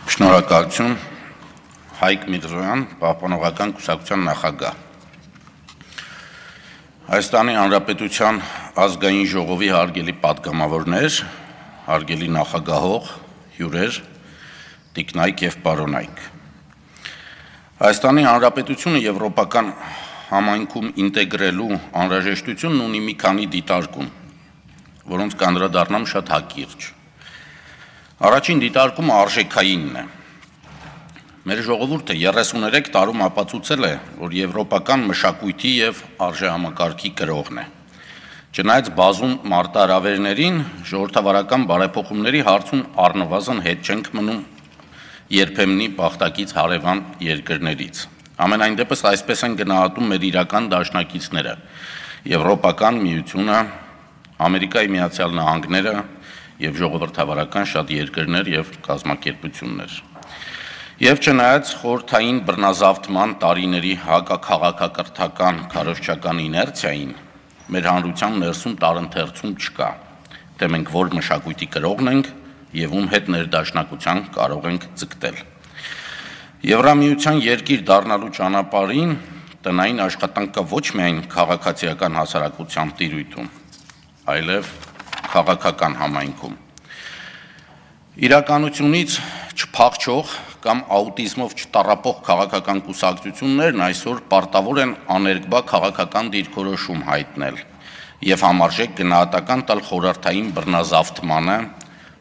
Շնորհակալություն, Հայկ Միրզոյան, Պահպանողական կուսակցության նախագահ։ Հայաստանի Հանրապետության ազգային ժողովի հարգելի պատգամավորներ, հարգելի նախագահող, հյուրեր, տիկնայք եւ պարոնայք։ Հայաստանի Հանրապետությունը եվրոպական համայնքում ինտեգրելու անհրաժեշտությունն ունի մի քանի դիտարկում, որոնց կանդրադառնամ շատ հակիրճ։ Առաջին դիտարկումը արժեքայինն է։ Մեր ժողովուրդը 33 տարում ապացուցել է, որ եվրոպական մշակույթի եւ արժեհամակարգի կրողն է։ Չնայած բազում մարտահրավերներին, ժողովրդավարական բարեփոխումների հարցում առնվազն հետ չենք մնում երբեմնի բախտակից հարևան երկրներից։ Ամենայն դեպս այսպես են գնահատում մեր իրական դաշնակիցները՝ Եվրոպական միությունը, Ամերիկայի Միացյալ Նահանգները եւ ժողովրդավարական շատ երկրներ եւ կազմակերպություններ։ Եվ չնայած խորհրդային բռնազավթման տարիների հակաքաղաքակրթական քարոզչական իներցիային, մեր հանրության ներսում տարընթերցում չկա, թե մենք որ մշակույթի կրողն ենք եւ ում հետ ներդաշնակության կարող ենք ձգտել։ Եվրամիության երկիր դառնալու ճանապարհին տնային աշխատանքը ոչ միայն քաղաքացիական հասարակության տիրույթում, այլև քաղաքական համայնքում։ Իրականությունից չփախչող կամ աուտիզմով չտառապող քաղաքական կուսակցություններն այսօր պարտավոր են աներկբա քաղաքական դիրքորոշում հայտնել եւ համարժեք գնահատական տալ խորհրդային բռնազավթմանը,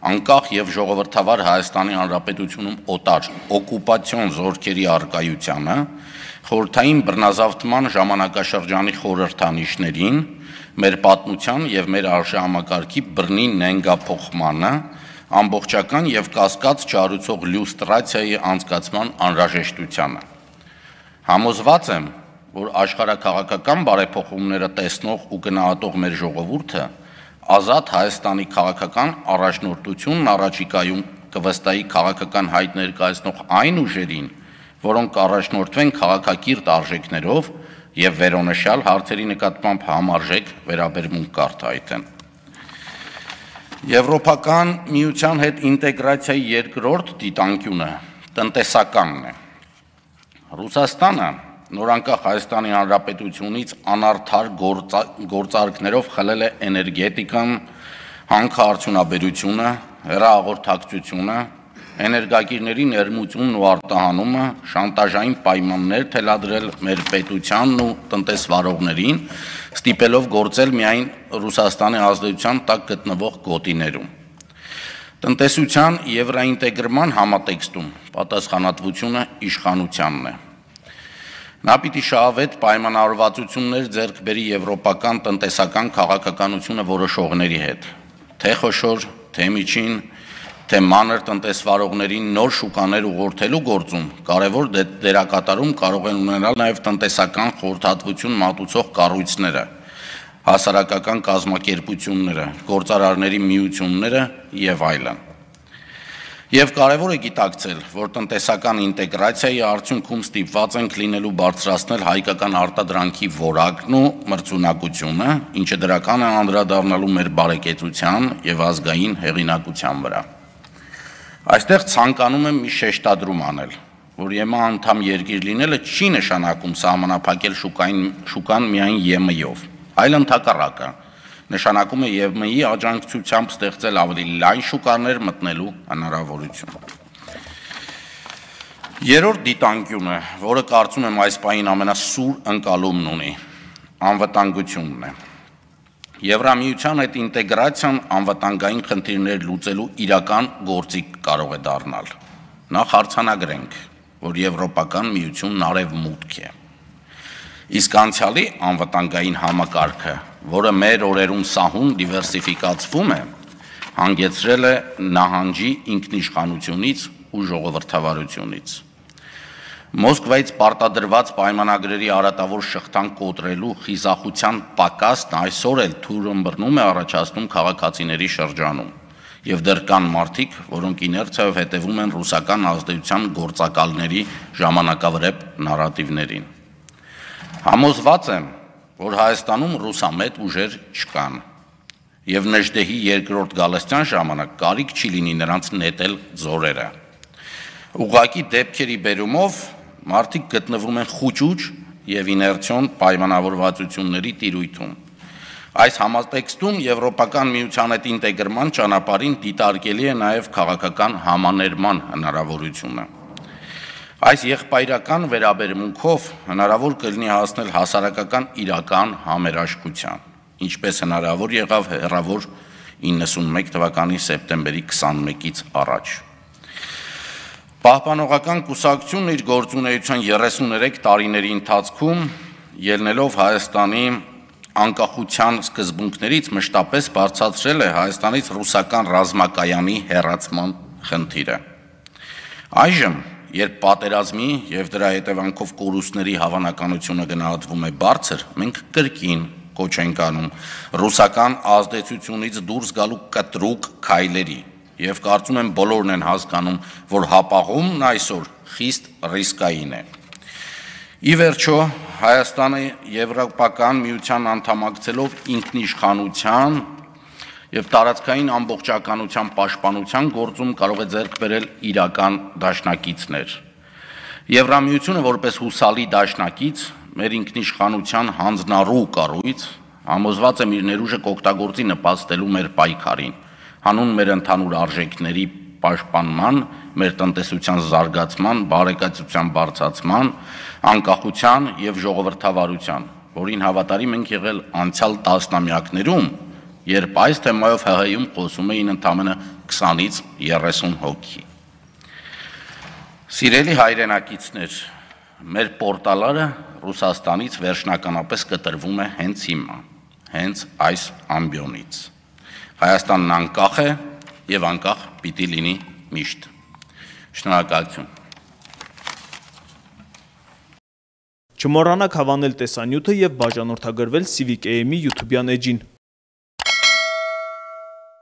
անկախ եւ ժողովրդավար Հայաստանի Հանրապետությունում օտար օկուպացիոն զորքերի առկայությանը, խորհրդային բռնազավթման ժամանակաշրջանի խորհրդանիշներին, մեր պատմության եւ մեր արժեհամակարգի բռնի նենգափոխմանը, ամբողջական եւ կասկած չառուցող լյուստրացիայի անցկացման անհրաժեշտությանը։ Համոզված եմ, որ աշխարհաքաղաքական բարեփոխումները տեսնող ու գնահատող մեր ժողովուրդը ազատ Հայաստանի քաղաքական առաջնորդությունն առաջիկայում կվստահի քաղաքական հայտ ներկայացնող այն ուժերին, որոնք առաջնորդվեն քաղաքակիրթ արժեքներով եւ վերոնշյալ հարցերի նկատմամբ համարժեք վերաբերմունք կառթայթեն։ Եվրոպական միության հետ ինտեգրացիայի երկրորդ դիտանկյունը տնտեսականն է։ Ռուսաստանը նորանկախ Հայաստանի Հանրապետությունից անարդար գործարքներով խլել է էներգետիկան, հանքարդյունաբերությունը, հեռահաղորդակցությունը, էներգակիրների ներմուծումն ու արտահանումը, շանտաժային պայմաններ թելադրել մեր պետությանն ու տնտեսվարողներին, ստիպելով գործել միայն Ռուսաստանի ազդեցության տակ գտնվող գոտիներում։ Տնտեսության եվրոինտեգրման համատեքստում պատասխանատվությունը իշխանությանն է։ Նա պիտի շահավետ պայմանավորվածություններ ձեռք բերի եվրոպական տնտեսական քաղաքականությունը որոշողների հետ, թե խոշոր, թե միջին, թե մանր տնտեսվարողներին նոր շուկաներ ուղղորդելու գործում կարևոր դերակատարում կարող են ունենալ նաև տնտեսական խորհրդատվություն մատուցող կառույցները, հասարակական կազմակերպությունները, գործարարների միությունները եւ այլն։ Եվ կարևոր է գիտակցել, որ տնտեսական ինտեգրացիայի արդյունքում ստիպված ենք լինելու բարձրացնել հայկական արտադրանքի որակն ու մրցունակությունը, ինչը դրական է անդրադառնալու մեր բարեկեցության եւ ազգային հեղինակության վրա։ Այստեղ ցանկանում եմ մի շեշտադրում անել, որ ԵՄ անդամ երկիր լինելը չի նշանակում սահմանափակել շուկան միայն ԵՄ-ով, այլ ընդհակառակը, նշանակում է ԵՄ-ի աջակցությամբ ստեղծել ավելի լայն շուկաներ մտնելու հնարավորություն։ Երրորդ դիտանկյունը, որը կարծում եմ այս պահին ամենասուր ընկալումն ունի, անվտանգությունն է։ Եվրամիության հետ ինտեգրացիան անվտանգային խնդիրներ լուծելու իրական գործիք կարող է դառնալ։ Նախ արձանագրենք, որ Եվրոպական միությունն արևմուտք է։ Իսկ անցյալի անվտանգային համակարգը, որը մեր օրերում սահուն դիվերսիֆիկացվում է, հանգեցրել է նահանջի ինքնիշխանությունից ու ժողովրդավարությունից։ Մոսկվայից պարտադրված պայմանագրերի արատավոր շղթան կոտրելու խիզախության պակասն այսօր էլ թույլ ըմբռնում է առաջացնում քաղաքացիների շրջանում, եւ դեռ կան մարդիկ, որոնք իներցիայով հետևում են ռուսական ազդեցության գործակալների ժամանակավրեպ նարատիվներին։ Համոզված եմ, որ Հայաստանում ռուսամետ ուժեր չկան, եւ Նժդեհի երկրորդ Գալստյան ժամանակ կարիք չի լինի նրանց նետել ձորերը։ Ուղղակի դեպքերի բերումով մարդիկ գտնվում են խուճուճ եւ իներցիոն պայմանավորվածությունների տիրույթում։ Այս համատեքստում Եվրոպական միության հետ ինտեգրման ճանապարհին դիտարկելի է նաև քաղաքական համաներման հնարավորությունը։ Այս եղբայրական վերաբերմունքով հնարավոր կլինի հասնել հասարակական իրական համերաշխության, ինչպես հնարավոր եղավ հեռավոր 91 թվականի սեպտեմբերի 21-ից առաջ։ Պահպանողական կուսակցությունն իր գործունեության 33 տարիների ընթացքում ելնելով Հայաստանի անկախության սկզբունքներից մշտապես բարձրացրել է Հայաստանից ռուսական ռազմակայանի հեռացման խնդիրը։ Այժմ, երբ պատերազմի եւ դրա հետևանքով կորուստների հավանականությունը գնահատվում է բարձր, մենք կրկին կոչ ենք անում ռուսական ազդեցությունից դուրս գալու կտրուկ քայլերի եւ կարծում եմ բոլորն են հասկանում, որ հապաղումն այսօր խիստ ռիսկային է։ Ի վերջո, Հայաստանը Եվրոպական միության անդամակցելով ինքնիշխանության եւ տարածքային ամբողջականության պաշտպանության գործում կարող է ձեռք բերել իրական դաշնակիցներ։ Եվրամիությունը որպես հուսալի դաշնակից մեր ինքնիշխանության հանձնառու կառույց համոզված եմ իր ներուժը կօգտագործի նպաստելու մեր պայքարին, հանուն մեր ընդհանուր արժեքների պաշտպանման, մեր տնտեսության զարգացման, բարեկեցության բարձրացման, անկախության եւ ժողովրդավարության, որին հավատարիմ ենք եղել անցյալ տասնամյակներում, երբ այս թեմայով ՀՀ-ում խոսում էին ընդամենը 20-ից 30 հոգի։ Սիրելի հայրենակիցներ, մեր պորտալարը Ռուսաստանից վերջնականապես կտրվում է հենց հիմա, հենց այս ամբիոնից։ Հայաստանն անկախ է եւ անկախ պիտի լինի միշտ։ Շնորհակալություն։ Չմոռանաք հավանել տեսանյութը եւ բաժանորդագրվել Civic AM-ի YouTube-յան էջին։